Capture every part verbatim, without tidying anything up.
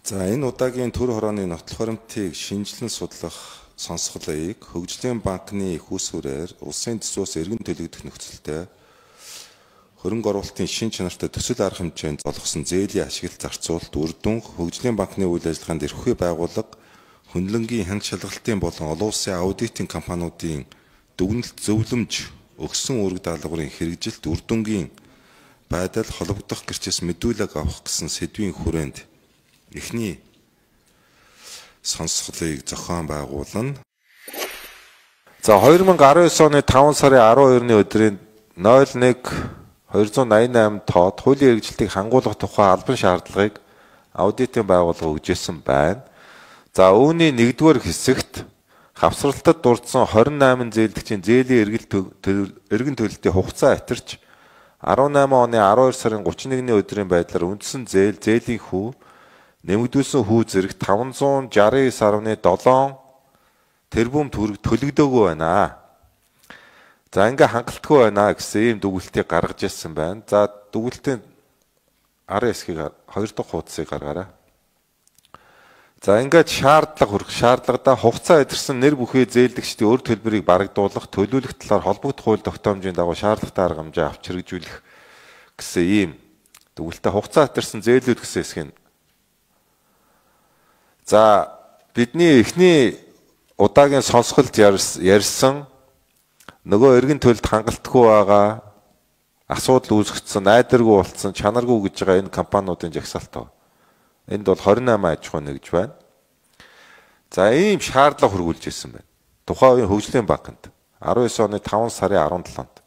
За энэ удаагийн төр хорооны нотлох баримтыг шинжилэн судлах сонсголыг Хөгжлийн банкны их усүрээр улсын төсвөөс эргэн төлөгдөх нөхцөлтэй хөрөнгө оруулалтын шин чанартай төсөл арга хэмжээнд золгосон зээлийн ашиглалт зарцуулалт үр дүн Хөгжлийн банкны үйл ажиллагаанд эрхүй байгууллага хөндлөнгийн хянга шалгалтын болон олон улсын аудитын компаниудын дүгнэлт зөвлөмж өгсөн үүрэг даалгаврын хэрэгжилт үр дүнгийн байдал холбогдох гэрчээс мэдүүлэг авах гэсэн сэдвийн хүрээнд эхний сонсголыг зохион байгуулна. За две тысячи десятый оны таван сарын арван хоёрны өдрийн ноль нэг двести восемьдесят восемь тоод хуулийн хэрэгжилтийг хангуулах тухай албан шаардлагыг аудитын байгууллага өгжсэн байна. За үүний нэгдүгээр хэсэгт хавсралтад дурдсан двадцать восемь зээлдэгчийн зээлийн эргэн төлөлтийн хугацаа атирч десембер оны арван хоёр сарын гуравч нэгний өдрийн байдлаар үндсэн зээл зээлийн хүү нэмэгдүүлсэн хүү зэрэг таванзуун шестьдесят девять нөлөө семь тэрбум төгрөг төлөгдөөгүй байна. За ингээ хангалтгүй байна гэсэн ийм дүгнэлтийг гаргаж ирсэн байна. За дүгнэлтийн арын хэсгийг хоёр дахь хуудсыг гаргаарай. За ингээд шаардлага хүрэх шаардлагада хугацаа эдэрсэн нэр бүхий зээлдэгчдийн өр төлбөрийг барагдуулах, төлөвлөх талаар холбогдох хууль тогтоомжийн дагуу шаардлагатай арга хэмжээ авч хэрэгжүүлэх гэсэн ийм дүгнэлтээ хугацаа эдэрсэн зээлүүд гэсэн хэсгийг. За бидний эхний удаагийн сонсголд ярьсан нөгөө эргэн төлөлд хангалтгүй байгаа асуудал үүсгэсэн, найдваргүй болцсон, чанаргүй гэж байгаа энэ компаниудын жагсаалт тоо. Энд бол двадцать восемь аж ахуй нэгж байна. За ийм шаардлага хөргүүлж ирсэн байна. Тухайн үеийн Хөгжлийн банкнд девять оны таван сарын арван долоонд.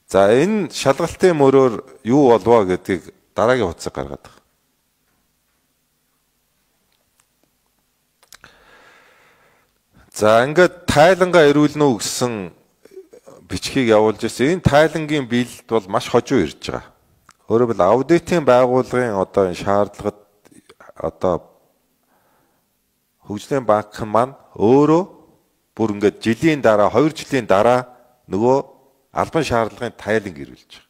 За энэ шалгалтын мөрөөр юу болвоо гэдгийг дараагийн хуудсыг гаргаад байгаа. За ингээд тайлангаа ирүүлнэ үү гэсэн бичгийг явуулж ирсэн. Энэ тайлангийн биелэлд бол маш хожуу ирж байгаа. Өөрөөр хэлбэл аудитын байгууллагын одоо энэ шаардлагад одоо Хөгжлийн банк маань өөрөө бүр ингээд жилийн дараа хоёр жилийн дараа нөгөө албан шаардлагын тайланг ирүүлж байгаа.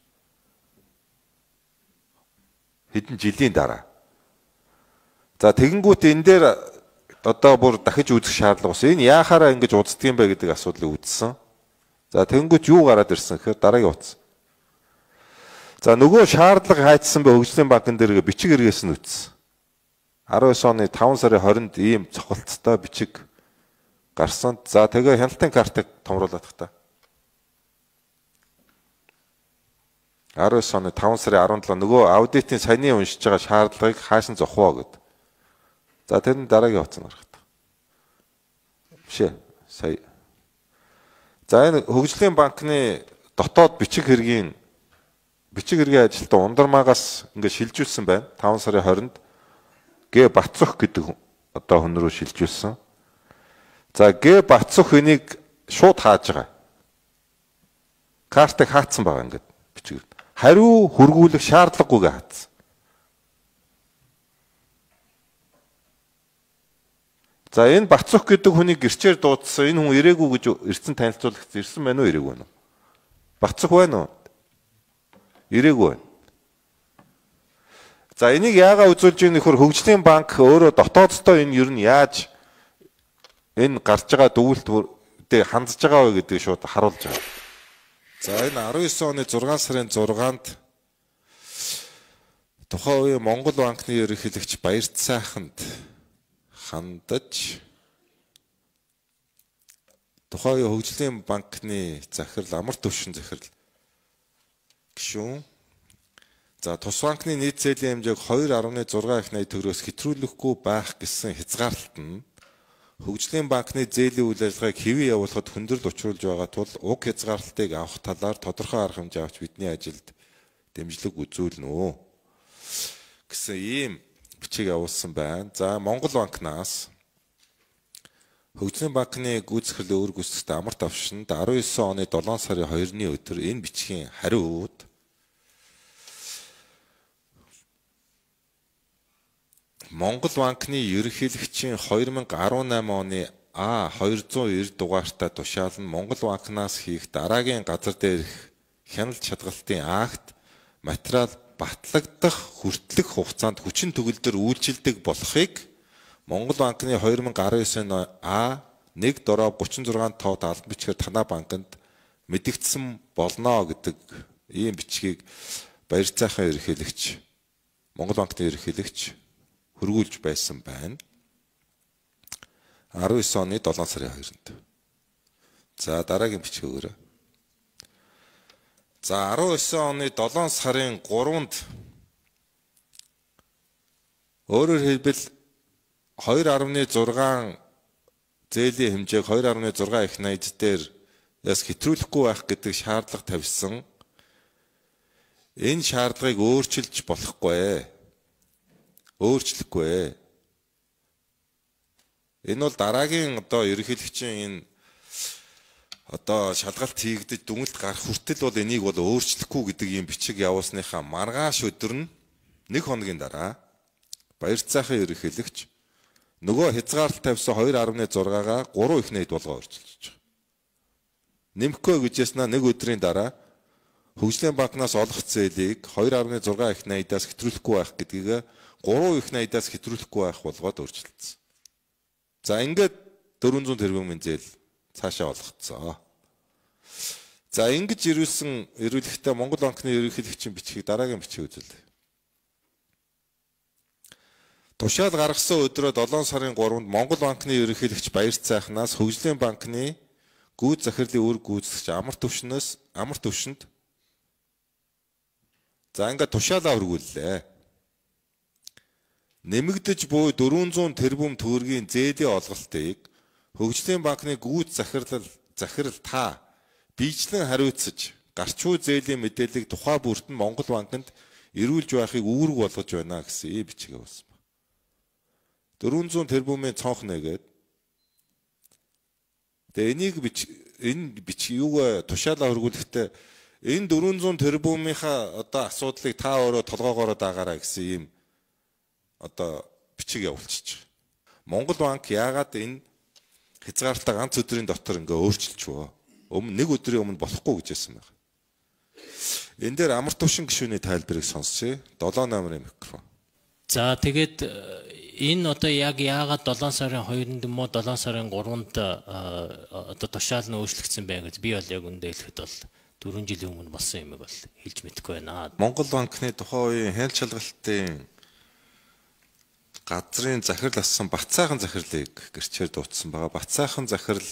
Хэдэн жилийн дараа. За тэгэнгүүт энэ дээр одоо бүр дахиж үзэх шаардлага бас энэ яахаараа ингэж узддаг юм бэ гэдэг асуудлыг үзсэн. За тэгэнгүүт юу гараад ирсэн гэхээр дараагийн утас. За нөгөө шаардлага хайцсан бэ Хөгжлийн банкн дээр бичиг эргээс нь үтсэн. девять оны таван сарын хорионд ийм цохолттой бичиг гарсан. За тэгээ хяналтын картыг томруулах та. девять оны таван сарын арван долоо нөгөө аудитын саяны уншиж байгаа шаардлагыг хааш нь зохио гэд. За тэр нь дараагийн утас нарах та. Бишээ сая. За энэ Хөгжлийн банкны дотоод бичиг хэргийн бичиг хэргийн ажилтан Ундармаагаас ингээд шилжүүлсэн байна. таван сарын хорионд Г Бацөх гэдэг одоо хүн рүү шилжүүлсэн. За Г Бацөх энийг шууд хааж байгаа. Картыг хаацсан байгаа ингээд бичиг. Хариу хөргүүлэх шаардлагагүйгээ хаацсан. За энэ Бацөх гэдэг хүний гэрчээр дуудсан энэ хүн ирээгүй гэж ирсэн танилцуулах ирсэн байна уу ирээгүй байна уу? Бацөх байна уу? Ирээгүй байна. За энийг яагаад үзүүлж ийм нөхөр Хөгжлийн банк өөрөө дотооддоо энэ ер нь яаж энэ гарч байгаа дүгнэлттэй хандж байгаа вэ гэдгийг шууд харуулж байгаа. За энэ девять оны зургаан сарын зургаанд тухайн үеийн Монгол банкны ерөнхийлөгч Баярт сайханд хандаж тухайн үеийн Хөгжлийн банкны захирал амар төвшин захирал гишүүн. За тус банкны нийт зээлийн хэмжээг two point six их найд төгрөгөөс хэтрүүлэхгүй байх гэсэн хязгаарлалт нь Хөгжлийн банкны зээлийн үйл ажиллагааг хэвээ явуулахад хүндрэл учруулж байгаа тул уг хязгаарлалтыг авах талаар тодорхой арга хэмжээ авч бидний ажилд дэмжлэг үзүүлнэ үү гэсэн ийм бичиг явуулсан байна. За Монгол банкнаас Хөгжлийн банкны гүйцэтгэлийн өр гүйцэтгэгчд амар тавшинд девять оны долоон сарын хоёрны өдөр энэ бичгийн хариуд Монгол банкны ерөнхийлөгчийн two thousand eighteen оны А two oh nine дугаартай тушаал нь Монгол банкнаас хийх дараагийн газар дээрх хяналт шалгалтын акт материал батлагдах хүртэлх хугацаанд хүчин төгөлдөр үйлчилдэг болохыг Монгол банкны two thousand nineteen оны А one дороо thirty-six тоод албан бичгээр танай банкнд мэдэгдсэн болно гэдэг ийм бичгийг баяр цайхан ерөнхийлөгч Монгол банкны ерөнхийлөгч хөргүүлж байсан байна. nineteen оны seven сарын second-нд. За дараагийн бичиг өгөөрэй. За nineteen оны seven сарын third-нд өөрөөр хэлбэл two point six зээлийн хэмжээг two point six их найд дээр яс хэтрүүлэхгүй байх гэдэг шаардлага тавьсан. Энэ шаардлагыг өөрчилж болохгүй. Өөрчлөхгүй. Энэ бол дараагийн одоо ерөнхийлөгчийн энэ одоо шалгалт хийгдэж дүнэлт гарах хүртэл бол энийг бол өөрчлөхгүй гэдэг ийм бичиг явуулсныхаа маргааш өдөр нь нэг хоногийн дараа баяр цайхан ерөнхийлөгч нөгөө хязгаарлалт тавьсан two point six-гаа three их найд болгоо өөрчилж байгаа. Нэмэхгүй гэж яснаа нэг өдрийн дараа Хөгжлийн банкнаас олох зээлийг two point six их найдаас хэтрүүлэхгүй байх гэдгийг three их найдаас хэтрүүлэхгүй байх болгоод өөрчилсөн. За ингээд four hundred тэрбумын зээл цаашаа олгоцсон. За ингэж ирүүлсэн ирүүлэхдээ Монгол банкны ерөнхийлөгчийн бичгийг дараагийн бичиг үзүүлээ. Тушаал гаргасан өдрөө seven сарын third-нд Монгол банкны ерөнхийлөгч баяр цайхнаас Хөгжлийн банкны гүйц захирлын үр гүйцэтгэгч амар төвшнөөс амар төвшөнд за ингээд тушаалаа өргүүллээ. Нэмэгдэж буй four hundred тэрбум төгрөгийн зээлийн олголтыг Хөгжлийн банкны гүйц захирал захирал та биечлэн хариуцаж гарч буй зээлийн мэдээллийг тухай бүрт нь Монгол банкнд ирүүлж байхыг үүрэг болгож байна гэсэн ийм бичиг явуулсан. four hundred тэрбумын цонх нэгээд тэгээ энийг бич энэ бич юуг тушаалаа өргүүлэхдээ энэ four hundred тэрбумынхаа одоо асуудлыг та өөрөө толгоогоороо даагаарай гэсэн ийм одоо бичиг явуулчих. Монгол банк яагаад энэ хязгаарлалтаа ганц өдрийн дотор ингээ өөрчилчихвөө? Өмнө нэг өдрийн өмнө болохгүй гэж хэлсэн байна. Энэ дээр амар төвшин гишүүний тайлбарыг сонсъё. seven номерын микрофон. За тэгээд энэ одоо яг яагаад seven сарын second-нд юм уу seven сарын third-нд одоо тушаал нь өөрчлөгдсөн бэ гэж би бол яг үндэ хэлэхэд бол four жилийн өмнө болсон юм бол хэлж мэдэхгүй байна. Монгол банкны тухайн үеийн хяналт шалгалтын газрын захирал ассан Бацаахан захирлыг гэрчээр дуутсан байгаа. Бацаахан захирал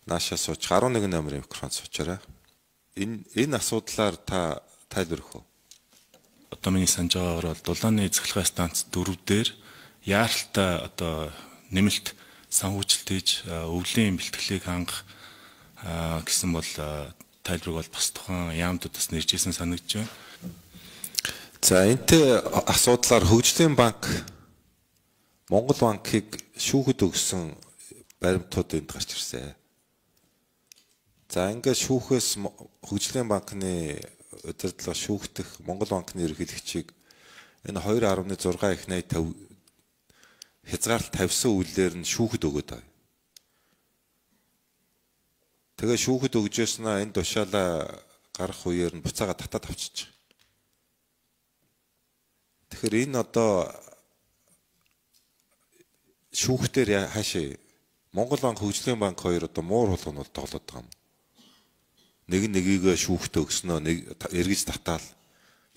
наашаа сууч eleven номерын микрофон суучаарай. Энэ энэ асуудлаар та тайлбар өгөх үү? Одоо миний санаж байгаагаар бол дулааны цахилгаан станц дөрөв дээр яаралтай одоо нэмэлт санхүүжилт хийж өвлийн бэлтгэлийг хангах гэсэн бол тайлбарыг бол бас тухайн яамдуудаас нэржсэн санагдж байна. За энтэй асуудлаар Хөгжлийн банк Монгол банкыг шүүхэд өгсөн баримтууд энд гарч ирсэн. За ингээд шүүхээс Хөгжлийн банкны удирдлага шүүхтэх Монгол банкны ерөнхийлөгчийг энэ two point six их найд хязгаарлалт тавьсан үйлээр нь шүүхэд өгöd байна. Тэгээ шүүхэд өгжөөснөө энэ тушаалаа гарах үеэр нь буцаага татаад авчиж. Тэгэхээр энэ одоо шүүхтэр хаашаа Монгол банк Хөгжлийн банк хоёр одоо муур хулгайнууд тоглоод байгаа юм. Нэг нэгийг шүүхтэ өгснөө нэг эргэж татаал.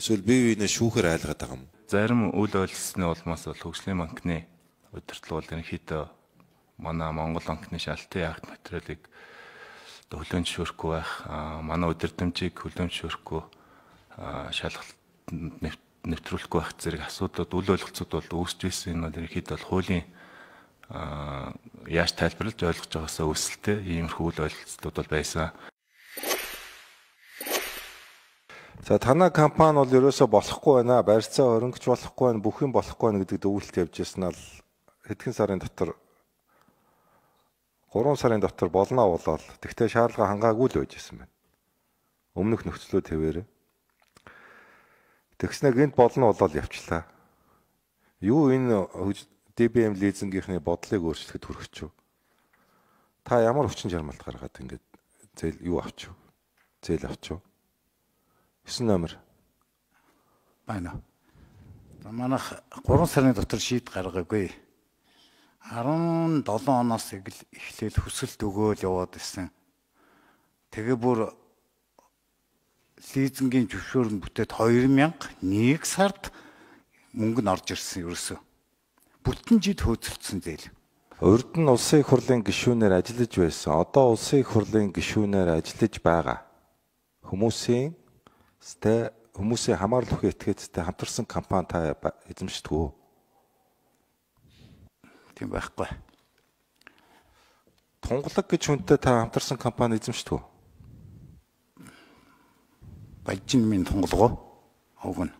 Эсвэл бие биенээ шүүхээр айлгаад байгаа юм. Зарим үйл ойлголцны улмаас бол Хөгжлийн банкны удирдлага бол ерөнхийдөө манай Монгол банкны шалтгаан акт материалыг хөлөөнд шүүрэхгүй байх, манай удирдамжийг хөлөөнд шүүрэхгүй шалгалт нэвтрүүлэхгүй байх зэрэг асуудлууд үйл ойлголцууд бол үүсэж ирсэн. Энэ бол ерөнхийдөө бол хуулийн яаж тайлбарлаж ойлгож байгаасаа үүсэлтэй иймэрхүү үйл ойлголцууд бол байсан. За танай компани бол ерөөсө болохгүй байна. Барьцаа хөрөнгөч болохгүй байна. Бүх юм болохгүй байна гэдэг өвөлт явж ирсэн ал хэдхэн сарын дотор three сарын дотор болно болоод тэгтээ шаардлага хангаагүй л байж ирсэн байна. Өмнөх нөхцлөө твээрээ. Тэгснэ гинт болно болоод явчлаа. Юу энэ ди би эм лизингийнхний бодлыг өөрчлөхөд хүрчихв. Та ямар хүчин чармайлт гаргаад ингэж зээл юу авчив? Зээл авчив. nine номер. байна. Манайх гурван сарын дотор шийд гаргаагүй. арван долоо оноос эхлээл хүсэлт өгөөл яваад ирсэн. Тэгээ бүр лизингийн зөвшөөрөл бүтээд хоёр мянга нэг сард мөнгө нь орж ирсэн ерөөсөө. Бүтэн жид хөөцөлдсөн зээл. Урд нь улсын их хурлын гишүүнээр ажиллаж байсан. Одоо улсын их хурлын гишүүнээр ажиллаж байгаа хүмүүсийн сте хүмүүсийн хамаарал бүхий этгээдтэй хамтарсан компани та эзэмшдэг үү? Тийм байхгүй. Тунгалаг гэж хүнтэй та хамтарсан компани эзэмшдэг үү? Балжин минь тунгалгоо өгнө.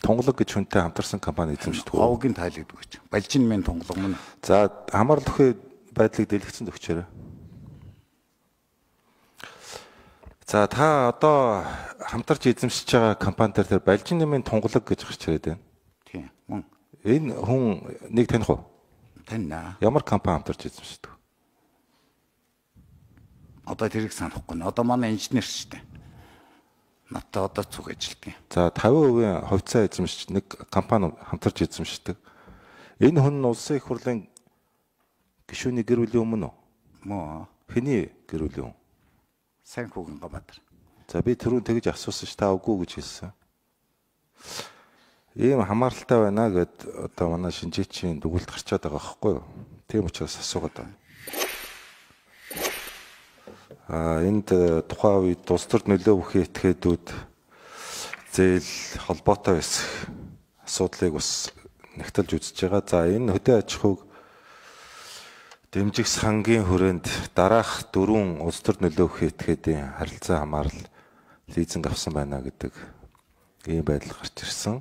Тунгалаг гэж хүнтэй хамтарсан компани эзэмшдэг үү? Овгийн тайлагддаг гэж. Балжин минь тунгалга мөн. За хамаарал бүхий байдлыг дэлгэцэн өгчээрэй. За та одоо хамтарч эзэмшиж байгаа компанитар тэр Балжин нэмийн тунгалаг гэж гарч ирээд байна. Тийм. Мөн. Энэ хүн нэг таних уу? Таньнаа. Ямар компани хамтарч эзэмшдэг? Одоо тэрийг санахгүй нэ. Одоо манай инженер шүү дээ. Надтай одоо цуг ажилтдаг. За тавин хувийн хувьцаа эзэмшиж нэг компани хамтарч эзэмшдэг. Энэ хүн нь улсын их хурлын гишүүний гэр бүлийн өмнө үү? Мөө. Хэний гэр бүлийн? Сайн хүүгэн Габадар. За би түрүүн тэгж асуусан ш та үгүй гэж хэлсэн. Ийм хамааралтай байна гэд одоо манай шинжээчийн дүгнэлт гарчаад байгаа байхгүй юу? Тийм учраас асуугаад байна. А энд тухайн үед улс төрд нөлөө бүхий этгээдүүд зээл холбоотой байсан асуудлыг бас нэгтэлж үзэж байгаа. За энэ хөдөө аж ахуйг дэмжих сангийн хүрээнд дараах дөрвөн улс төрд нөлөө бүхий этгээдийн харилцаа хамаарал лизинг авсан байна гэдэг ийм байдал гарч ирсэн.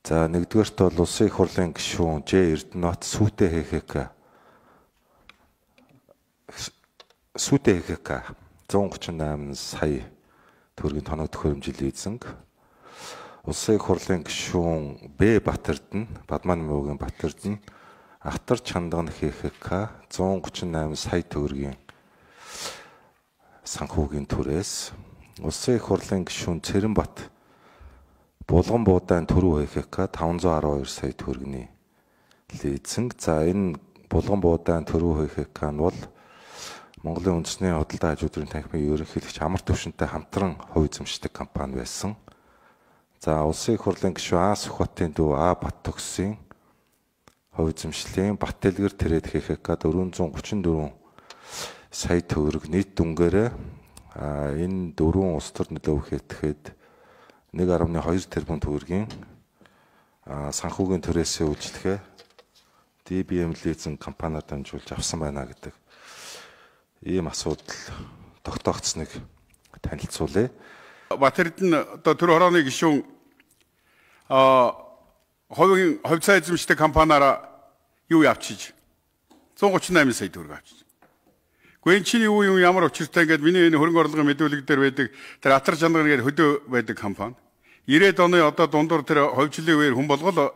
За нэгдүгээрт бол улсын их хурлын гишүүн Ж Эрдэнэт сүйтэй ХХК сүйтэй ХХК зуун гучин восемь сая төгрөгийн тоног төхөөрөмжил лизинг. Улсын их хурлын гишүүн Б Батэрдэн Бадман Муугийн Батэрдэн Ахтар Чандган ХХК зуун гучин восемь сая төгрөгийн санхүүгийн түрээс улсын их хурлын гишүүн Цэрэнбат Булган буудаан төрөө ХХК таван зуун арван хоёр сая төгрөгийн лизинг. За энэ Булган буудаан төрөө ХХК нь бол Монголын үндэсний худалдаа хажуудрын танхимын ерөнхийлөгч амар төвшөнтэй хамтран хувь эзэмшдэг компани байсан. За улсын их хурлын гишүүн А Сүхбатын дүү А Бат төгсийн хувь эзэмшлийн Бат Дэлгэр Тэрэд ХХК дөрвөн зуун гучин дөрвөн сая төгрөг нийт дүнгээрээ энэ дөрвөн улс төр нөлөө бүхий этгээд нэг гаруй хоёр тэрбум төгрөгийн санхүүгийн түрээсээ үйлчлэхээ Ди Би Эм лизинг компаниар дамжуулж авсан байна гэдэг ийм асуудал тогтоогдсныг танилцуулъя. Батэрдэн одоо төр хорооны гишүүн а хувийн хувьцаа эзэмшдэг компаниараа юу явуулчих зуун гучин восемь сая төгрөг авчиж. Гүн чинь юу юм ямар учиртай ингээд миний энэ хөрөнгө орлогын мэдүүлэг дээр байдаг тэр Атар Чандан гэдэг хөдөө байдаг компани. ирээд оны одоо дундуур тэр ховжлын үеэр хүн болгол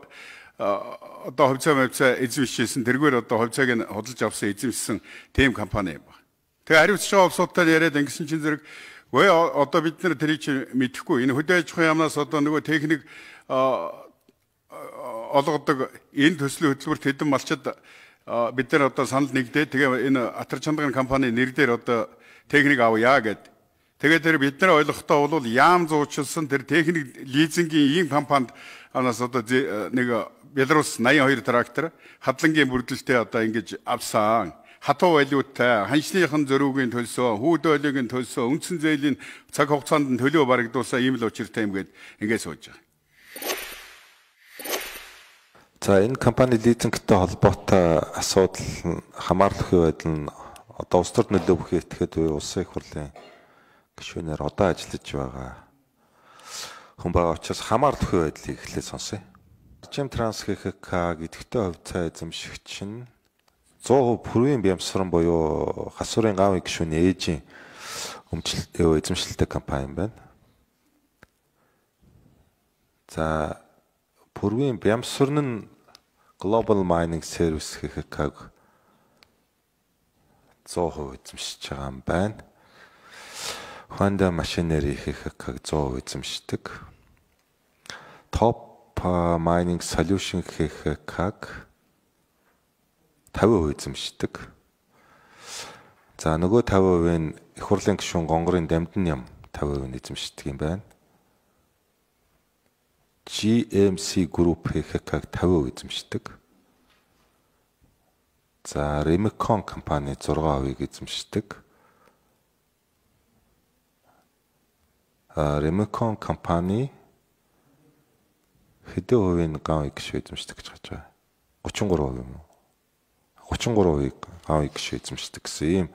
одоо хувьцаа хувьцаа эзэмшижсэн тэргээр одоо хувьцааг нь худалдаж авсан эзэмшсэн тийм компани юм байна. Тэгээ хариуцж байгаа улсуудтай яриад ингэсэн чинь зэрэг 왜 одоо бид нар тэрийг чи мэдэхгүй энэ хөдөө аж ахуйн яамнаас одоо нөгөө техник олгодог энэ төслийн хөтөлбөрт хэдэн малчид бид нар одоо санал нэгдээ тэгээ энэ Атар Чандан компани нэр дээр одоо техник авъя гэд. Тэгээд тэр бид нар ойлгохдоо бол яам зуучилсан тэр техник лизингийн ийм компанид анаас одоо нэг Беларусь восемьдесят two трактор хадлангийн бүрдэлтэй одоо ингэж авсан. Хатуу валюттай, ханшныхан зөрүүгийн төлсөө, хүүд ойлгийн төлсөө, үндсэн зээлийн цаг хугацаанд нь төлөө барагдуулсан ийм л учиртай юм гээд ингэж сууж байгаа. За энэ компани лизингтэй холбоотой асуудал хамаарлах байдал нь одоо улс төрд нөлөө бүхий этгээд буй улсын их хурлын гишүүнээр одоо ажиллаж байгаа хүн байгаа учраас хамаарлах байдлыг эхлээд сонсъё. Жим Транс ХХК гэдэгтэй хувьцаа эзэмшигч нь сто процент Пүрвийн Бямсран буюу Хасуурын гавын гишүүний ээжийн өмчлөлт эзэмшилтэй компани юм байна. За Пүрвийн Бямсран нь Global Mining Service ХХК-г сто процент эзэмшиж байгаа юм байна. Honda Machinery хэ хэ хэ сто процент эзэмшдэг. Top Mining Solution хэ хэ хэ фифти перцент эзэмшдэг. За нөгөө фифти перцент-ийн их хурлын гишүүн Гонгорын Дамдын ям фифти перцент эзэмшдэг юм байна. джи эм си Group хэ хэ хэ фифти перцент эзэмшдэг. За Remicon компани сix percent эзэмшдэг. А Remicon компани хэдэн хувийн гав гişүү эзэмшдэг гэж хаж байгаа. thirty-three percent юм уу? thirty-three percent гав гişүү эзэмшдэг гэсэн ийм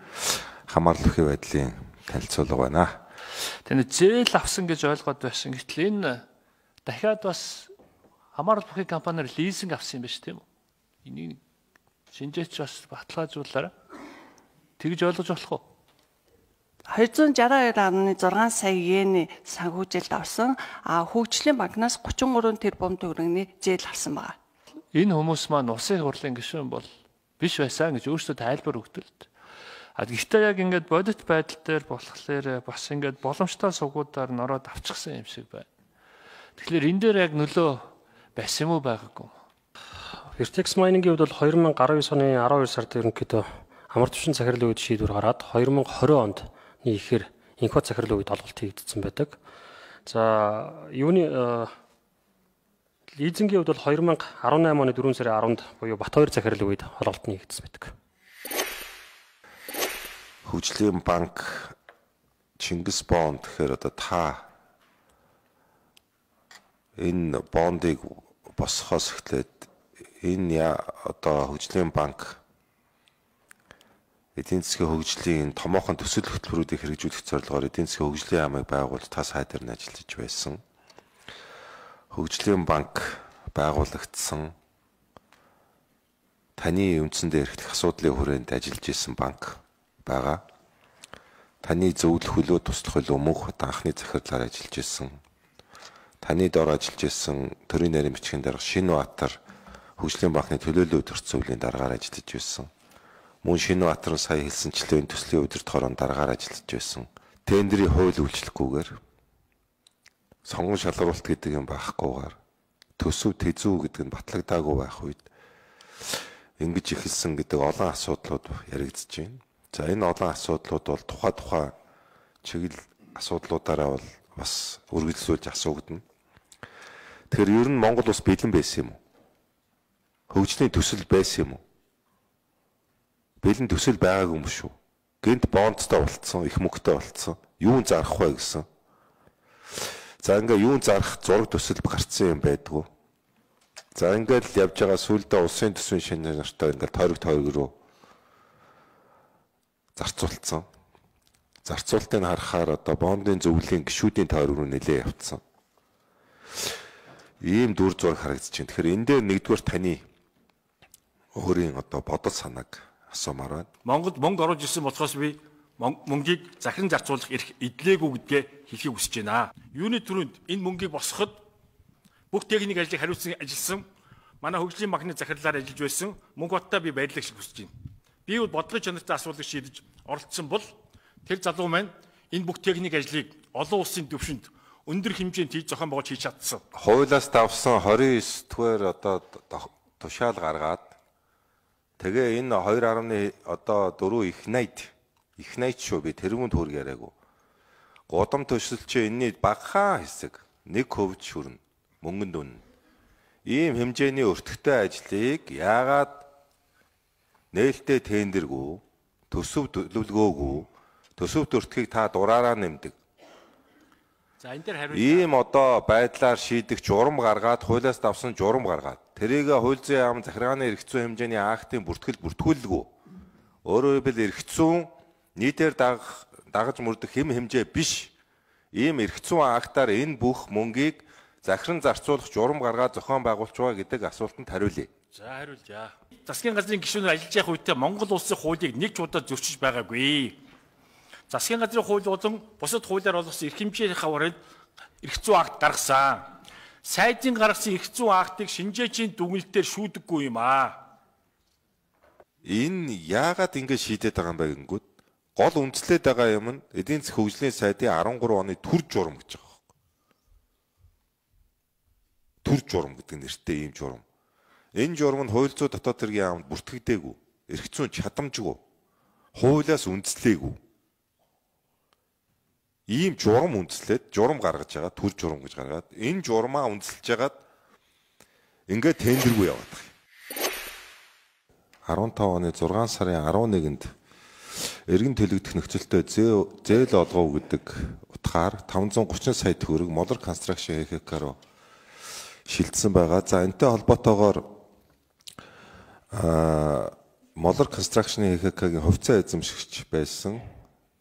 хамаарлахын байдлын танилцуулга байна. Тэнд зээл авсан гэж ойлгоод байсан. Гэтэл энэ дахиад бас хамаарал бүхий компаниар лизинг авсан юм байна шүү тийм үү? Энийг шинжээч бас баталгаажуулаарай. Тэгж ойлгож болох уу? two sixty-two point six сая йений санхүүжилт авсан. А хөгжлийн банкнаас thirty-three тэрбум төгрөгийн зээл авсан байна. Энэ хүмүүс маань улсын хурлын гишүүн бол биш байсан гэж өөрсдөө тайлбар өгдөг. А гэхдээ яг ингээд бодит байдал дээр болохоор бас ингээд боломжтой сугуудаар нороод авчихсан юм шиг байна. Тэгэхээр энэ дээр яг нөлөө байсан юм уу байгаагүй юм? Vertex Mining-ийн хувьд бол twenty nineteen оны twelve сард ерөнхийдөө амар түвшин захирлын үед шийдвэр гараад twenty twenty онд ихээр инхот захирлын үед олголт хийгдсэн байдаг. За юуны лизингийн хувьд бол twenty eighteen оны four сарын tenth буюу Батбаяр захирлын үед олголт нь хийгдсэн байдаг. Хөгжлийн банк Чингис бонд гэхээр одоо та энэ бондыг босхоос эхлээд энэ одоо хөгжлийн банк эдийн засгийн хөгжлийн томоохон төсөл хөтөлбөрүүдийг хэрэгжүүлэх зорилгоор эдийн засгийн хөгжлийн яамыг байгуулж та сайдаар нь ажиллаж байсан. Хөгжлийн банк байгуулагдсан таны үндсэндээ эрхлэх асуудлын хүрээнд ажиллаж исэн банк байгаа. Таны зөвлөх хөлөө туслах хөлөө мөнх анхны захирлаар ажиллаж исэн. Таны дор ажиллаж исэн төрийн нарийн бичгийн дарга Шинбаатар хөгжлийн банкны төлөөлөл өдөрт зөвлөлийн дараагаар ажиллаж байсан. Мөн Шинбаатар сая хэлсэнчлэн төслийн өдөрт хорон дараагаар ажиллаж байсан. Тендерийн хууль үйлчлэхгүйгээр сонгон шалгаруулалт гэдэг юм байхгүйгээр төсөв тэзүү гэдэг нь батлагдаагүй байх үед ингэж ихэлсэн гэдэг олон асуудлууд яригдж байна. За энэ олон асуудлууд бол тухай тухай чиглэл асуудлуудаараа бол бас үргэлжлүүлж асуугдана. Тэгэхээр ер нь Монгол улс бэлэн байсан юм уу? Хөгжлийн төсөл байсан юм уу? Бэлэн төсөл байгаагүй юм шүү. Гэнт бондтой болцсон, их мөнгөтэй болцсон. Юун зарах вэ гэсэн. За ингээ юун зарах зураг төсөл гарцсан юм байдгүй. За ингээд л явж байгаа сүүлдээ улсын төсвийн шинэ нартай ингээд тойрог тойрог руу зарцуулсан. Зарцуултыг харахаар одоо бондын зөвлөлийн гишүүдийн тойрог руу нэлээ явцсан. Ийм дүр зураг харагдаж байна. Тэгэхээр энэ дээр нэгдүгээр таны өөрийн одоо бодол санааг асуумаар байна. Монгод мөнгө оруулж ирсэн болохоос би мөнгийг захиран зарцуулах эрх эдлээгүй гэдгээ хэлхийг хүсэж байна. Юуны түрүүнд энэ мөнгийг босгоход бүх техник ажлыг хариуцсан ажилласан манай хөгжлийн банкны захирлаар ажиллаж байсан мөнгө хоттой би баярлах шиг хүсэж байна. Би бол бодлого чанартай асуудлыг шийдэж оролцсон бол тэр залуу маань энэ бүх техник ажлыг олон улсын түвшинд өндөр хэмжээнд хийж зохион байгуулж хийж чадсан. Хуулиас давсан twenty-nine дугаар одоо тушаал гаргаад тэгээ энэ two point одоо four их найд их найд шүү би тэрүүн төгрөг яриаггүй. Гудам төсөл чи энэний багахан хэсэг one percent шүрнэ мөнгөнд үнэ. Ийм хэмжээний өртөгтэй ажлыг яагаад нээлттэй тендергүй төсөв төлөвлөгөөгүй төсөвт өртгийг та дураараа нэмдэг. За энэ дээр хариу. Ийм одоо байдлаар шийдэх журам гаргаад хуулиас давсан журам гаргаад тэрийг хууль зүйн яам захиргааны эрх зүйн хэмжээний актын бүртгэл бүртгүүлгүй. Өөрөөр хэлбэл эрх зүйн нийтээр дагах дагаж мөрдөх хэм хэмжээ биш. Ийм эрх зүйн актаар энэ бүх мөнгийг захиран зарцуулах журам гаргаад зохион байгуулж байгаа гэдэг асуултанд хариулъя. За хариулъя. Засгийн газрын гишүүнээр ажиллаж явах үедээ Монгол улсын хуулийг нэг ч удаа зөрчиж байгаагүй. Засгийн газрын хууль болон бусад хуулиар олгосон эрх хэмжээний хаврын эрх зүйн акт гаргасан. Сайдын гаргасан эрх зүйн актыг шинжээчийн дүгнэлтээр шүүдэггүй юм аа. Энэ яагаад ингэж шийдээд байгаа юм бэ гингүүд гол үндэслээд байгаа юм нь эдийн засгийн хөгжлийн сайдын арван гурван оны төр журам гэж байгаа. Төр журам гэдэг нэртэй ийм журам. Энэ журам нь хууль зүйн дотоод хэргийн яамд бүртгэгдээгүй, эрх зүйн чадамжгүй, хуулиас үндэслээгүй. Ийм журам үндэслээд журам гаргаж байгаа, төр журам гэж гаргаад энэ журмаа үндэслэж хагаад ингээд тендергүй яваад байгаа. арван таван оны зургаан сарын арван нэгэнд эргэн төлөгдөх нөхцөлтөд зээл олгоо гэдэг утгаар таван зуун гучин сая төгрөг Moller Construction эй ха ка руу шилжсэн байгаа. За энэтэй холбоотойгоор а Moller Construction эй ха ка-гийн хувьцаа эзэмшигч байсан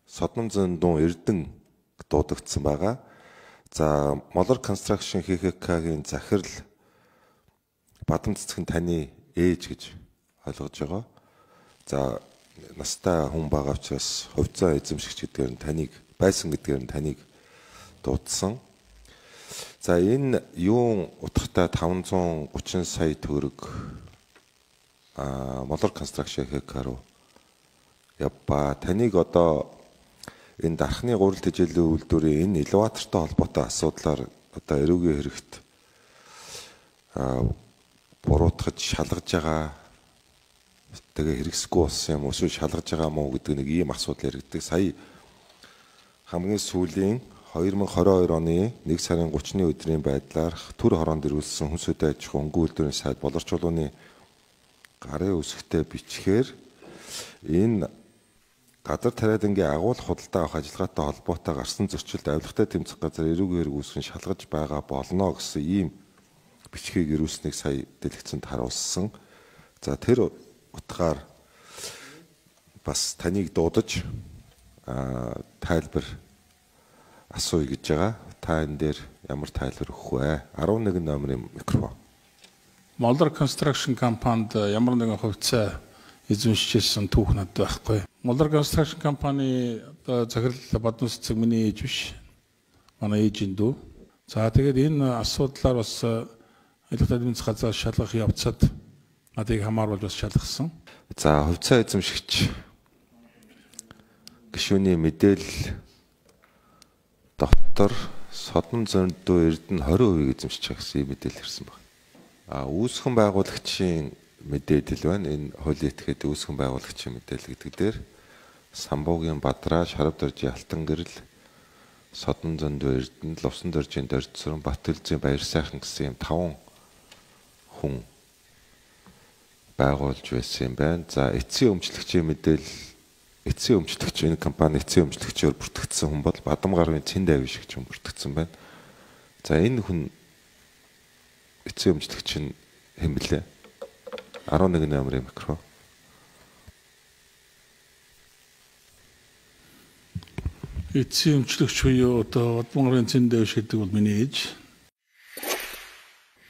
Содном Зөндөн Эрдэнэ дуудагдсан байгаа. За Moller Construction эй ха ка-гийн захирал Бадам цэцгэн таны ээж гэж ойлгож байгаа. За настай хүн байгаа учраас хувьцаа эзэмшигч гэдгээр нь таныг байсан гэдгээр нь таныг дуудсан. За энэ юун утгатай таван зуун гучин сая төгрөг а Moller Construction эй ха ка руу явба. Таныг одоо энэ дархны гурал тэжээлийн үйлдвэрийн энэ элеватортой холбоотой асуудлаар одоо эрүүгийн хэрэгт а буруутгаж шалгаж байгаа. Тэгээ хэрэгсэхгүй болсон юм уу эсвэл шалгаж байгаа мó гэдэг нэг ийм асуудал яригддаг. Сая хамгийн сүүлийн хоёр мың хорин хоёр оны нэг сарын гучны өдрийн байдлаар төр хороонд ирүүлсэн хүнсүдэ аж ахуйн өнгө үйлдвэрийн сайд Болор чулууны гарын үсгтээ бичгээр энэ газар тариадангийн агуулах худалдаа авах ажиллагаатай холбоотой гарсан зөрчилд авилгатай тэмцэх газар эрүүгийн хэрэг үүсгэн шалгаж байгаа болно гэсэн ийм бичгийг ирүүлснийг сая дэлгэцэнд харуулсан. За тэр утгаар бас таныг дуудаж тайлбар асууя гэж байгаа. Та энэ дээр ямар тайлбар өгөх вэ? арван нэгэн номерын микрофон. Moller Construction компанид ямар нэгэн хувьцаа эзэмшижсэн түүх надад байхгүй. Moller Construction компани одоо захирал Бадам цэцэг миний ээж биш. Манай ээжийн дүү. За тэгээд энэ асуудлаар бас ажилтны эдийн засгийн газар шалгах явцад надыг хамааруулж бас шалгасан. За хувьцаа эзэмшигч гишүүний мэдээлэл дотор Содном Зөндөө Эрдэнэ двадцать percent эзэмшиж байгаа гэсэн мэдээлэл ирсэн байна. А үүсгэн байгуулагчийн мэдээлэл байна. Энэ хуулийн этгээд үүсгэн байгуулагчийн мэдээлэл гэдэг дээр Самбуугийн Бадраа, Шарав доржийн Алтан гэрэл, Содном Зөндөө Эрдэнэ, Лувсан доржийн Доржсуран, Батөлзийн Баяр сайхан гэсэн юм таван хүн байгуулж байсан юм байна. За эцсийн өмчлөгчийн мэдээлэл эцсийн өмчлөгч энэ компани эцсийн өмчлөгчөөр бүртгэгдсэн хүн бол Бадам гарын Цэнд Авиш гэж хүн бүртгэгдсэн байна. За энэ хүн эцсийн өмчлөгч нь хэн блэ? арван нэгэн номерын микро. Эцсийн өмчлөгч буюу одоо Бадам гарын Цэнд Авиш гэдэг бол миний ээж.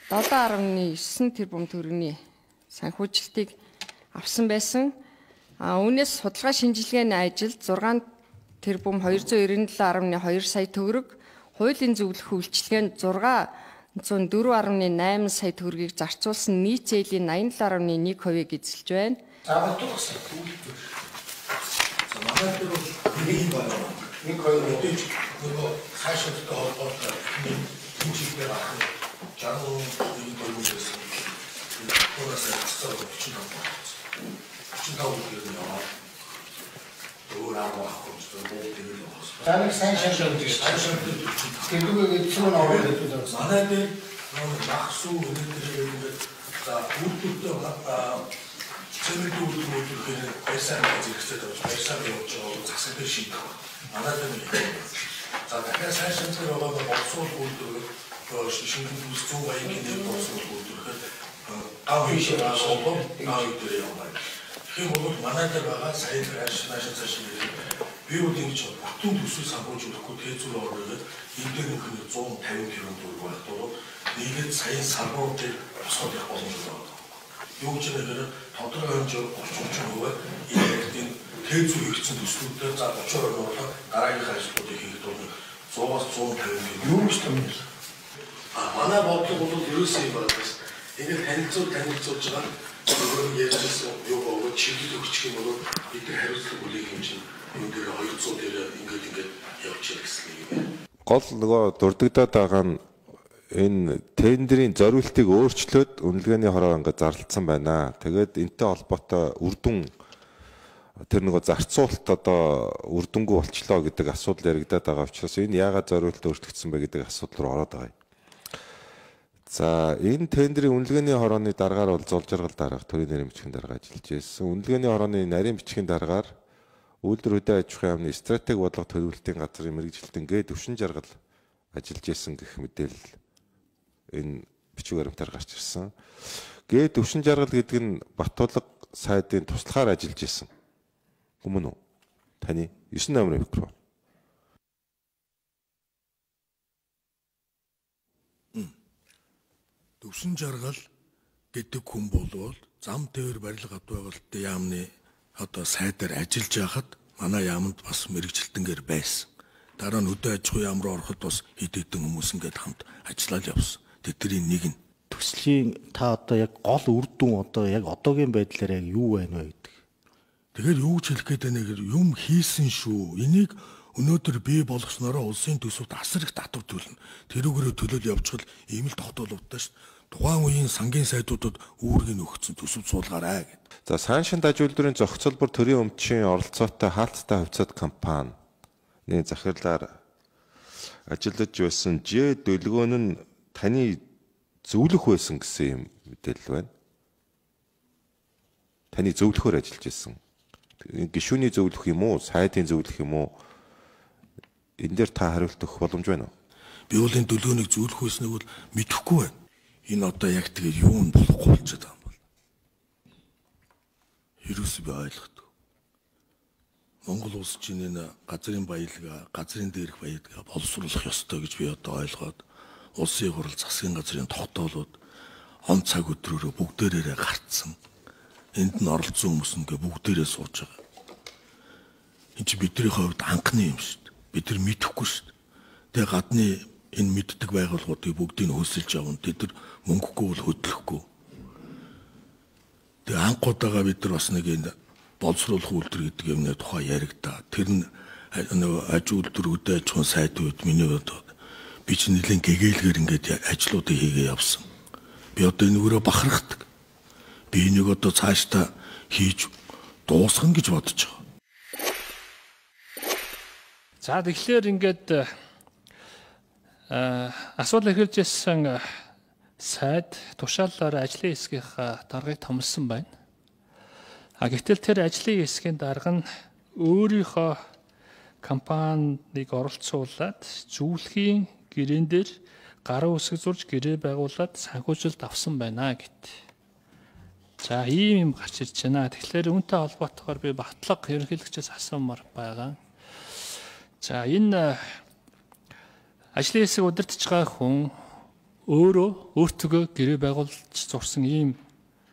seven point nine тэрбум төгрөгийн санхүүжилтийг авсан байсан. А үүнээс судалгаа шинжилгээний ажилд six тэрбум two hundred ninety seven point two сая төгрөг, хуулийн зөвлөх үйлчилгээнд six hundred four point eight сая төгрөгийг зарцуулсан нийт зээлийн eighty-seven point one percent эзэлж байна. За бодгоос үйлдвэр. За манай дээр бол нэг байна. нэг хоёр өдөөж нөгөө хаашаатай холбоотой нэг хэмжээгээр авах. Жаргал нэг дөрвөөс Орос цацаа forty-five forty-five яваа. Өөрөөр хэлбэл таныг сайн шалгаж байгаа. Тэрүүгээ зөвхөн ороод байдаг. Манай дээр багсуу өнөдр за бүрдүүтэй цэмэд үйлдвэр байсан зэрэгцээд байна. Байсан явж байгаа засаг дээр шийдэх. Манай дээр за дахиад сайн шалгаж байгаа болсоо үйлдвэр шингэн бүс зүүн аягийн дээр болсоо үйлдвэрэхэд авъя шиг асуулт авъя дээр яваа. Тэгэхээр бол манай дээр байгаа сайн цааш нааш цааш би бол ингэж батун төсөв санхүүж өгөхгүй тэзүүр ороод энэ дээр нэг one hundred fifty тэрбум төгрөг байх тул нийгэд сайн санхүү дээр босоод явах боломжтой байна. Юу ч нэгээр тодорхой хэмжээгээр thirty percent энэ тэзүүр хэрэгцсэн төслүүдээр за thirty percent оруулаад дараагийн ажлуудыг хийх тул one hundred-one hundred fifty юу ч юм. А манай бодлого бол ерөөсөө юм байна. Ингээд танилцуул танилцуулж байгаа өөрөө ярьжсэн юу боогод чиглэл өгчих юм бол бид нар хариуцлага үлээх юм чинь энэ дээр хоёрцоо дээр ингээд ингээд явж ирсэн юм. Гол нөгөө дурддагдаад байгаа нь энэ тендерийн зориултыг өөрчлөөд үнэлгээний хороо ингээд зарлцсан байна. Тэгээд энтэй холбоотой үр дүн тэр нөгөө зарцуулалт одоо үр дүнгүй болчлоо гэдэг асуудал яригадаад байгаа учраас энэ яагаад зориулт өөрчлөгдсөн бэ гэдэг асуудал руу ороод байгаа юм. За энэ тендерийн үнэлгээний хорооны дараагаар бол зол жаргал дараах төрийн нарийн бичгийн дарга ажиллаж байсан. Үнэлгээний хорооны нарийн бичгийн дараагаар үйлдвэр хөдөө аж ахуйн яамны стратеги бодлого төлөвлөлтийн газрын мэрэгжилтэн гээ төвшин жаргал ажиллаж байсан гэх мэдээлэл энэ бичиг баримтаар гарч ирсэн. Гээ төвшин жаргал гэдэг нь Батулга сайдын туслахаар ажиллаж байсан. Хүмүүн үү? Таны девять номер микро. Төвшин жаргал гэдэг хүн болвол зам тээвэр барилга хад байгуулалтын яамны одоо сайдаар ажиллаж байхад манай яамд бас мэрэгжилтэнгээр байсан. Дараа нь хөдөө аж ахуйн яам руу ороход бас хэд хэдэн хүмүүс ингээд хамт ажиллаад явсан. Тэдний нэг нь төслийн та одоо яг гол үр дүн одоо яг одоогийн байдлаар яг юу байна вэ гэдэг. Тэгэхээр юу ч хэлэх гээд байна гэхээр юм хийсэн шүү. Энийг өнөөдөр бий болгоснороо улсын төсөвт асар их татвар төлнө. Тэрүүгээрээ төлөөл явчихвал ийм л тогтоолуудтай шүү. Тухайн үеийн сангийн сайдуудад үүргийг өгсөн төсөв суулгаарай гэдэг. За Саншин даж үйлдвэрийн зохицолбор төрийн өмчийн оролцоотой хаалттай хувьцаат компани нэг захирлаар ажиллаж байсан Ж Дөлгөөн нь таны зөвлөх байсан гэсэн юм мэдээлэл байна. Таны зөвлөхөөр ажиллаж байсан. Гишүүний зөвлөх юм уу, сайдын зөвлөх юм уу? Энэ дээр та хариулт өгөх боломж байна уу? Би бол энэ Дөлгөөнийг зөвлөх байсныг бол мэдэхгүй байна. Энэ одоо яг тэгээд юу нь болохгүй болчиход байгаа юм бол. Ерөөсөө би ойлгохгүй. Монгол улс чинь энэ газрын баялгаа, газрын дээрх баялгаа боловсруулах ёстой гэж би одоо ойлгоод улсын хурал засгийн газрын тогтоолууд он цаг өдрөөрөө бүгдээрээ гарцсан. Энд нь оролцсон хүмүүс ингээ бүгдээрээ сууж байгаа. Энд чи бидний хувьд анхны юм шүү дээ. Бид нар мэдэхгүй шүү дээ. Тэгээ гадны энэ мэддэг байгууллагуудыг бүгдийг хөөсөлж явна. Тэд нар мөнгөгүй бол хөдлөхгүй. Тэгээ анхудаага бид нар бас нэг энэ боловсруулах үйлдвэр гэдэг юмны тухай яригдаа. Тэр нь нөгөө аж үйлдвэр хөдөө аж ахуйн сайдууд миний бодоод би ч нэлийн гэгээлгээр ингээд ажлуудыг хийгээ явсан. Би одоо энэгээр бахархдаг. Би энийг одоо цаашдаа хийж дуусгах гэж бодож байгаа. За тэгэхээр ингээд асуудал эхэлж ирсэн сайд тушаалаар ажлын хэсгийнхаа даргыг томилсон байна. А гэтэл тэр ажлын хэсгийн дарга нь өөрийнхөө компаниг оролцуулаад зөвлөхийн гэрээн дээр гараа үсэг зурж гэрээ байгуулад санхүүжилт авсан байна гэт. За ийм юм гарч ирж байна. Тэгэхээр үүнтэй холбоотойгоор би Батлага ерөнхийлөгчөөс асуумаар байгаа. За энэ ажлын хэсэг удирдах байгаа хүн өөрөө өөртөө гэрээ байгуулж зурсан ийм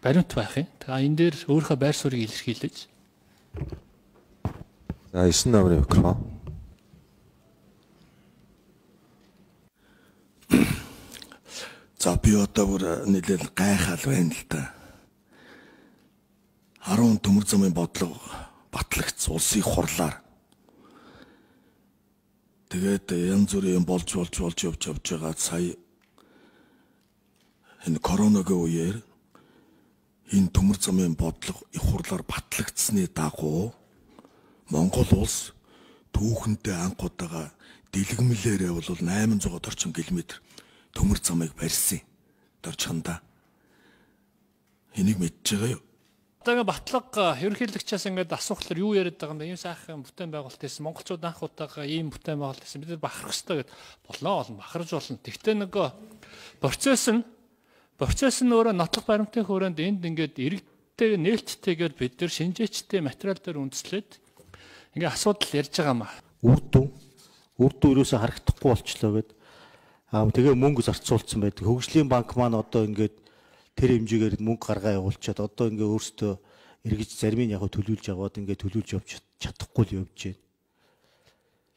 баримт байх юм. Тэгээ энэ дээр өөрийнхөө байр суурийг илэрхийлж. За девять номер микрофон. За би одоо бүр нэлээд гайхал байна л да. арван төмөр замын бодлого батлагц улсын хурлаар. Тэгээд янз бүрийн болж болж болж явж явж байгаа сая энэ коронавигийн үеэр энэ төмөр замын бодлого их хурлаар батлагдсны дагуу Монгол улс түүхэнтэй анхудаага дэлгэмлээрээ бол восемь сот орчим километр төмөр замыг барьсан. Дорчхонда. Энийг мэдж байгаа юу? Одоо Батлага ерөнхийлөгчөөс ингээд асуухлаар юу яриад байгаа юм бэ? Ийм сайхан бүтээн байгуулалт хийсэн. Монголчууд анх удаага ийм бүтээн байгуулалт хийсэн. Бид нар бахарах хэрэгтэй гэд болоо олон бахарж болно. Тэгтээ нөгөө процесс нь процесс нь өөрөө нотлох баримтын хүрээнд энд ингээд иргэдтэй нээлттэйгээр бид нар шинжээчтэй материал дээр үндэслээд ингээд асуудал ярьж байгаа юм аа. Үр дүн үр дүн ерөөсө харагдахгүй болчлоо гэд аа тэгээ мөнгө зарцуулсан байдаг. Хөгжлийн банк маань одоо ингээд тэр хэмжээгээр мөнгө гаргаа явуулчаад одоо ингээ өөртөө эргэж зарим нь яг төлөвлөж аваад ингээ төлөвлөж явж чадахгүй л явж байна.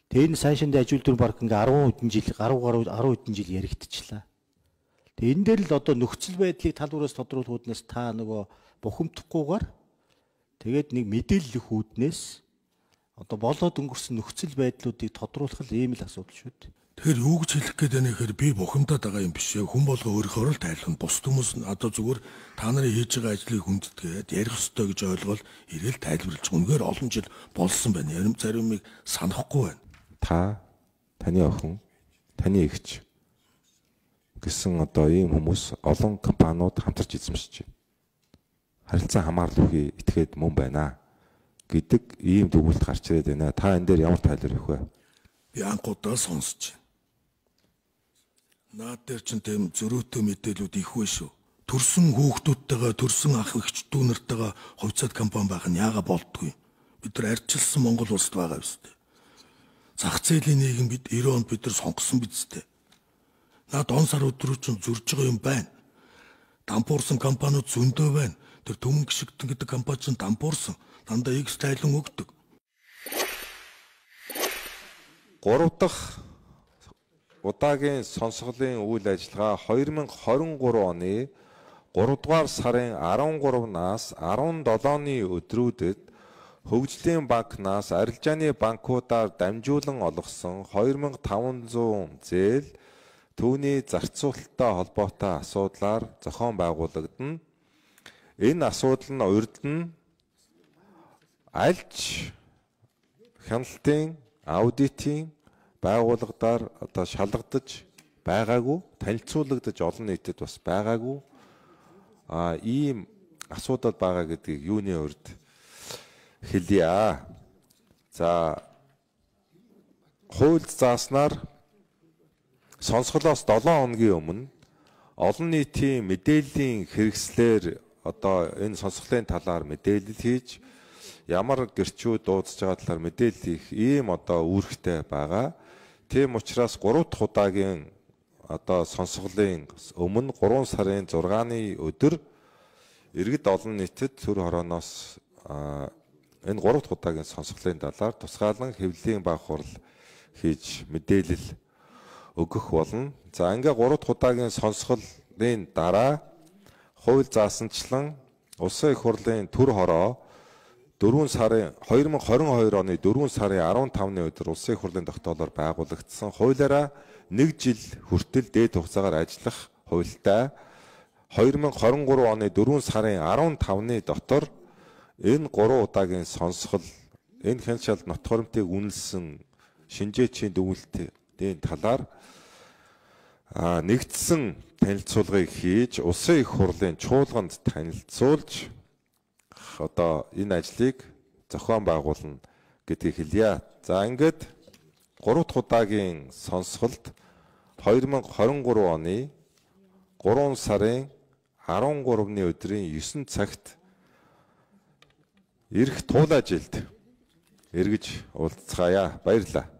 Тэгээ энэ сайшинд аж үйлдвэр парк ингээ арван хэдэн жил арван гаруй арван хэдэн жил яригдчихлаа. Тэгээ энэ дээр л одоо нөхцөл байдлыг талбараас тодруулахуднаас та нөгөө бухимдахгүйгээр тэгээд нэг мэдээлэл өгөх үүднээс одоо болоод өнгөрсөн нөхцөл байдлуудыг тодруулах л ийм л асуудал шүү дээ. Тэгэхээр юу гэж хэлэх гээд байна гэхээр би бухимдаад байгаа юм биш ээ. Хүн болго өөрийнхөө л тайлбар. Бус хүмүүс нь одоо зүгээр та нарын хийж байгаа ажлыг хүндэтгээд ярих ёстой гэж ойлгоод ирээл тайлбарлаж үнээр олон жил болсон байна. Ярим заримыг санахгүй байна. Та, таны охин, таны эгч гэсэн одоо ийм хүмүүс олон компаниуд хамтарч эзэмшиж байна. Харилцан хамаарал үгүй этгээд мөн байна гэдэг ийм дүгнэлт гарч ирээд байна. Та энэ дээр ямар тайлбар өгөх вэ? Би анхудаа сонсож байна. Наад дээр ч тийм зөрүүтэй мэдээлүүд их вэ шүү. Төрсөн хүүхдүүдтэйгээ төрсөн ах эгчдүү нартайгаа хувьцаат компани байх нь яага болдгүй. Бид нар арчилсан Монгол улсад байгаа биз дээ. Зах зээлийн нийгэм бид девяносто онд бид нар сонгосон биз дээ. Наад он сар өдрөө чинь зөрж байгаа юм байна. Дампуурсан компаниуд зөндөө байна. Тэр Төмөн гişгтэн гэдэг компани чинь дампуурсан. Дандаа X тайлан өгдөг. Гурав дахь удаагийн сонсголын үйл ажиллагаа две тысячи двадцать три оны гурав дугаар сарын арван гуравнаас арван долооны өдрүүдэд Хөгжлийн банкнаас арилжааны банкудаар дамжуулан олгосон две тысячи пятьсот зээл түүний зарцуулалттай холбоотой асуудлаар зохион байгуулагдана. Энэ асуудал нь урд нь альж хяналтын аудитын байгууллагадаар одоо шалгадаж байгаагүй, танилцуулагдаж олон нийтэд бас байгаагүй а ийм асуудал байгаа гэдгийг юуны урд хэлье. За хууль зааснаар сонсголоос долоон хоногийн өмнө олон нийтийн мэдээллийн хэрэгслээр одоо энэ сонсголын талаар мэдээлэл хийж ямар гэрчүүд дуудаж байгаа талаар мэдээлэл их ийм одоо үүрэгтэй байгаа. Тийм учраас гурав дахь удаагийн одоо сонсголын өмнө гурван сарын зургааны өдөр иргэд олон нийтэд төр хорооноос энэ гурав дахь удаагийн сонсголын талаар тусгаалan хэвлэлийн баг хурал хийж мэдээлэл өгөх болно. За ингээ гурав дахь удаагийн сонсголын дараа хууль заасанчлан Улсын их хурлын төр хороо дөрвөн сарын две тысячи двадцать two оны дөрвөн сарын арван тавны өдөр Улсын их хурлын тогтоолоор байгуулагдсан хуулиараа нэг жил хүртэл дээд хугацаагаар ажиллах хуультай две тысячи двадцать three оны дөрвөн сарын арван тавны дотор энэ гурван удаагийн сонсгол энэ хяншаалт нот хуримтыг үнэлсэн шинжээчийн дүгнэлтийн талаар нэгдсэн танилцуулгыг хийж Улсын их хурлын чуулганд танилцуулж одоо энэ ажлыг зохион байгуулна гэдгийг хэлье. За ингээд гурав дахь удаагийн сонсголт две тысячи двадцать three оны гурван сарын арван гуравны өдрийн нine цагт ирэх туул ажилд эргэж уулзцаая. Баярлалаа.